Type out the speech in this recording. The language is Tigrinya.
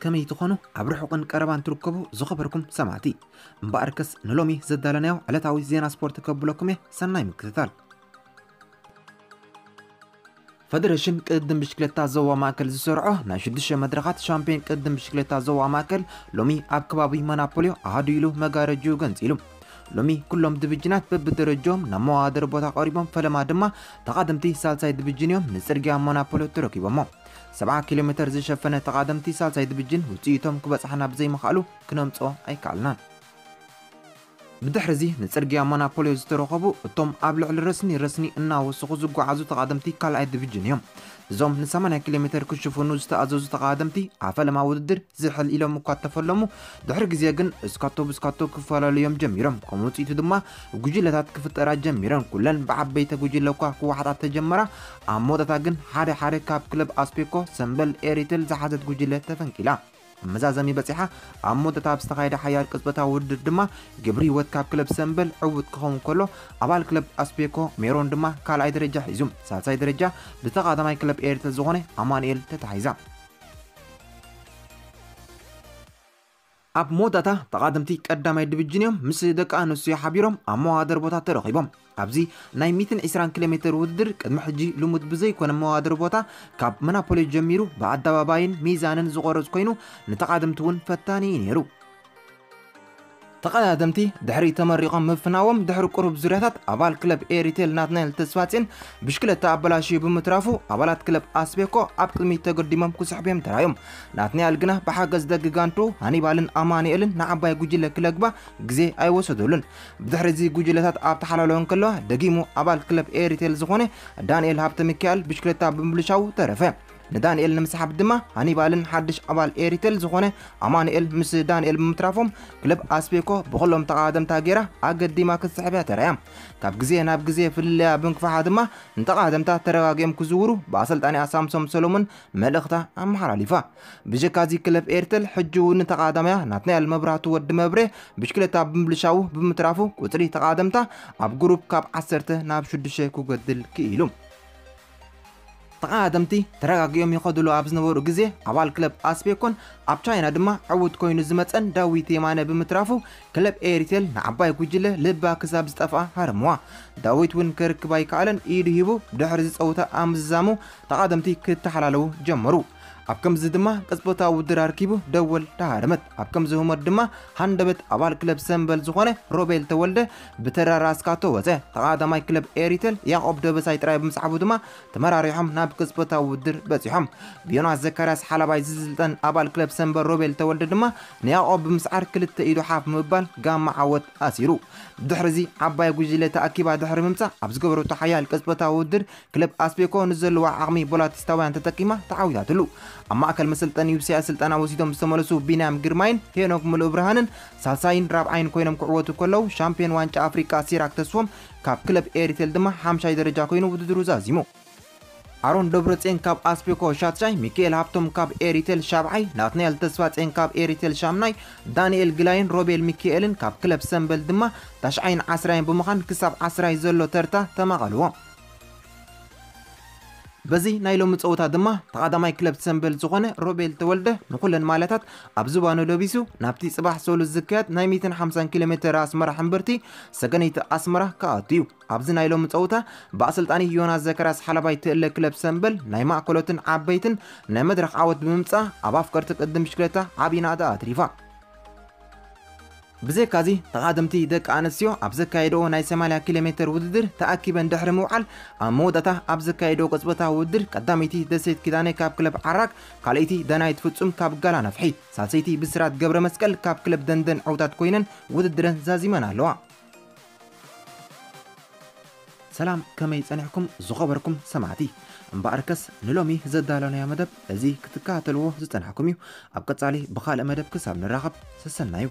ከመይ ትኾኑ? ኣብ ርሑቕን ቀረባን ትርከቡ ዝኸበርኩም ሰማዕቲ፣ እምበኣርከስ ንሎሚ ዘዳለናዮ ዕለታዊ ዜና ስፖርት ከብለኩም እየ። ሰናይ ምክትታል። ፈደረሽን ቅድድም ብሽክለታ ዞባ ማእከል ዝሰርዖ ናይ ሽዱሽተ መድረኻት ሻምፒዮን ቅድድም ብሽክለታ ዞባ ማእከል ሎሚ ኣብ ከባቢ መናፖልዮ ኣሃዱ ኢሉ መጋረጅኡ ገንጺሉ። ሎሚ ኩሎም ዲቪጅናት በብደረጃኦም ናብ መወዳደሪ ቦታ ቀሪቦም፣ ፈለማ ድማ ተቓደምቲ ሳልሳይ ዲቪጅን እዮም ንጽርግያ መናፖልዮ ተረኪቦሞ። ሰብዓ ኪሎ ሜተር ዝሸፈነ ተቓደምቲ ሳልሳይ ዲቪጅን ውጽኢቶም ክበጽሓና ብዘይምኽኣሉ ክነምጽኦ ኣይከኣልናን። ብድሕሪ እዚ ንጽርግያ መናፖልዮ ዝተረኸቡ እቶም ኣብ ልዕሊ ረስኒ ረስኒ እናወሰኹ ዝጓዓዙ ተቓደምቲ ካልኣይ ዲቪጅን እዮም። እዞም ን ሰማንያ ኪሎ ሜተር ክሽፍኑ ዝተኣዘዙ ተቓደምቲ ኣብ ፈለማ ውድድር ዝሕል ኢሎም እኳ እተፈለሙ፣ ድሕሪ ግዜ ግን እስካቶ ብስካቶ ክፈላለዩ እዮም ጀሚሮም። ከም ውጽኢቱ ድማ ጉጅለታት ክፍጠራ ጀሚረን። ኩለን ብዓበይቲ ጉጅለ እኳ ክወሓጣ ተጀመራ። ኣብ መወዳእታ ግን ሓደ ሓደ ካብ ክለብ ኣስፔኮ ሰምበል ኤሪቴል ዝሓዘት ጉጅለ ተፈንቂላ። ኣብ መዛዘሚ በጺሓ። ኣብ መወዳእታ ኣብ ዝተኻየደ ሓያል ቅጽበታዊ ውድድር ድማ ግብሪ ህይወት ካብ ክለብ ሰምበል ዕዉት ክኸውን ከሎ፣ ኣባል ክለብ ኣስፔኮ ሜሮን ድማ ካልኣይ ደረጃ ሒዙ። ሳልሳይ ደረጃ ብተቓዳማይ ክለብ ኤሪቴል ዝኾነ ኣማኑኤል ተታሒዛ። ኣብ መወዳእታ ተቓደምቲ ቀዳማይ ዲቪጅን እዮም ምስ ደቂ ኣንስትዮ ሓቢሮም ኣብ መወዳደሪ ቦታ ተረኺቦም። ኣብዚ ናይ ሚእትን ዕስራን ኪሎ ሜተር ውድድር ቅድሚ ሕጂ ልሙድ ብዘይኮነ መወዳደሪ ቦታ ካብ መናፖሊ ጀሚሩ ብኣደባባይን ሚዛንን ዝቆረጽ ኮይኑ፣ ንተቓደምቲ እውን ፈታኒ እዩ ነይሩ። ተቐዳደምቲ ድሕሪ ተመሪቖም ምፍናዎም ድሕሪ ቁሩብ ዙርያታት ኣባል ክለብ ኤሪቴል ናትናኤል ተስፋጽዮን ብሽክለታ ኣበላሽዩ ብምትራፉ ኣባላት ክለብ ኣስቤኮ ኣብ ቅድሚት ተገዲሞም ክስሕቡ እዮም ተራዮም። ናትናኤል ግና ብሓገዝ ደቂ ጋንቱ ሃኒባልን ኣማኑኤልን ንዓባይ ጉጅለ ክለግባ ግዜ ኣይወሰደሉን። ብድሕሪ እዚ ጉጅለታት ኣብ ተሓላሎ እንከለዋ ደጊሙ ኣባል ክለብ ኤሪቴል ዝኾነ ዳንኤል ሃብተ ሚካኤል ብሽክለታ ብምብልሻው ተረፈ። ንዳንኤል ንምስሓብ ድማ ሃኒባልን ሓድሽ ኣባል ኤሪቴል ዝኾነ ኣማኑኤል ምስ ዳንኤል ብምትራፎም ክለብ ኣስቤኮ ብኹሎም ተቓደምታ ጌራ ኣገዲማ ክትስሕብ እያ ተራእያ። ካብ ግዜ ናብ ግዜ ፍልልያ ብምክፋሓ ድማ ንተቓደምታ ተረጋጊኦም ክዝውሩ ብኣሰልጣኒኣ ሳምሶም ሰሎሞን መልእኽታ ኣመሓላሊፋ። ብጀካ እዚ ክለብ ኤሪቴል ሕጂ እውን ንተቓዳማያ ናትናኤል መብራህቱ ወዲ መብሬ ብሽክለታ ብምብልሻው ብምትራፉ ቁጽሪ ተቓደምታ ኣብ ግሩፕ ካብ ዓሰርተ ናብ ሽዱሽተ ክጎድል ክኢሉ። ተቓደምቲ ተረጋጊኦም ይኸድሉ ኣብ ዝነበሩ ግዜ ኣባል ክለብ ኣስቤኮን ኣብ ቻይና ድማ ዕዉት ኮይኑ ዝመጸን ዳዊት የማነ ብምትራፉ ክለብ ኤሪቴል ንዓባይ ጉጅለ ልባ ክሳብ ዝጠፍኣ ሃረምዋ። ዳዊት እውን ክርክብ ኣይከኣለን፣ ኢዱ ሂቡ ድሕሪ ዝጸውታ ኣብ ምዝዛሙ ተቓደምቲ ክተሓላለዉ ጀመሩ። ኣብ ከምዚ ድማ ቅጽበታዊ ውድድር ኣርኪቡ ደወል ተሃረመት። ኣብ ከምዚ ህሞት ድማ ሃንደበት ኣባል ክለብ ሰምበል ዝኾነ ሮቤል ተወልደ ብተራ ራስካቶ ወጸ። ተቓዳማይ ክለብ ኤሪቴል ያዕቆብ ደበሳይ ጥራይ ብምስዓቡ ድማ ተመራሪሖም ናብ ቅጽበታዊ ውድድር በጺሖም። ብዮናስ ዘካርያስ ሓላባይ ዝስልጠን ኣባል ክለብ ሰምበል ሮቤል ተወልደ ድማ ንያዕቆብ ብምስዓር ክልተ ኢዱ ሓፍ ምባል ጋማ ዓወት ኣሲሩ። ድሕሪ እዚ ዓባይ ጉጅለ ተኣኪባ ድሕሪ ምምጻእ ኣብ ዝገበረቶ ሓያል ቅጽበታዊ ውድድር ክለብ ኣስቤኮ ንዘለዋ ዓቕሚ ቦላቲስታውያን ተጠቂማ ተዓዊታትሉ። ኣብ ማእከል መሰልጠኒ ዩብሲያ ስልጠና ወሲዶም ዝተመለሱ ቢንያም ግርማይን ሄኖክ ምሉእ ብርሃንን ሳልሳይን ራብዓይን ኮይኖም ክዕወቱ ከለዉ ሻምፒዮን ዋንጫ ኣፍሪቃ ሲራክ ተስፎም ካብ ክለብ ኤሪቴል ድማ ሓምሻይ ደረጃ ኮይኑ ውድድሩ ዛዚሙ። ኣሮን ደብረጽዮን ካብ ኣስቤኮ ሻትሻይ፣ ሚካኤል ሃብቶም ካብ ኤሪቴል ሻብዓይ፣ ናትናኤል ተስፋጽዮን ካብ ኤሪቴል ሻምናይ፣ ዳንኤል ግላይን ሮቤል ሚካኤልን ካብ ክለብ ሰምበል ድማ ታሽዓይን ዓስራይን ብምዃን ክሳብ ዓስራይ ዘሎ ተርታ ተማቐልዎ። በዚ ናይ ሎሚ ጸወታ ድማ ተቓዳማይ ክለብ ሰምበል ዝኾነ ሮቤል ተወልደ ንኹለን ማልያታት ኣብ ዝባኑ ለቢሱ ናብቲ ጽባሕ ሰሉስ ዝካየድ ናይ ሚእትን ሓምሳን ኪሎ ሜተር ኣስመራ ሕምብርቲ ሰገነይቲ ኣስመራ ክኣቱ እዩ። ኣብዚ ናይ ሎሚ ጸወታ ብኣሰልጣኒ ዮናስ ዘከራስ ሓላባይ ትእለ ክለብ ሰምበል ናይ ማእከሎትን ዓበይትን ናይ መድረኽ ዓወት ብምምጻእ ኣብ ኣፍቀርቲ ቅድም ብሽክለታ ዓቢ ናእዳ ኣትሪፋ። ብዘይካዚ ተቓደምቲ ደቂ ኣንስትዮ ኣብ ዘካየድኦ ናይ ሰማንያ ኪሎ ሜተር ውድድር ተኣኪበን ድሕሪ ምውዓል ኣብ መወዳእታ ኣብ ዘካየድኦ ቅጽበታዊ ውድድር ቀዳመይቲ ደሴት ኪዳነ ካብ ክለብ ዓራግ፣ ካልኣይቲ ዳናይት ፍጹም ካብ ጋላ ነፍሒ፣ ሳልሰይቲ ብስራት ገብረ መስቀል ካብ ክለብ ደንደን ዕውታት ኮይነን ውድድረን ዛዚመን ኣለዋ። ሰላም፣ ከመይ ጸኒሕኩም ዝኸበርኩም ሰማዕቲ? እምበኣርከስ ንሎሚ ዘዳለናዮ መደብ እዚ ክትከታተልዎ ዝጸናሕኩም እዩ። ኣብ ቀጻሊ ብኻልእ መደብ ክሳብ ንራኸብ ሰሰናዩ።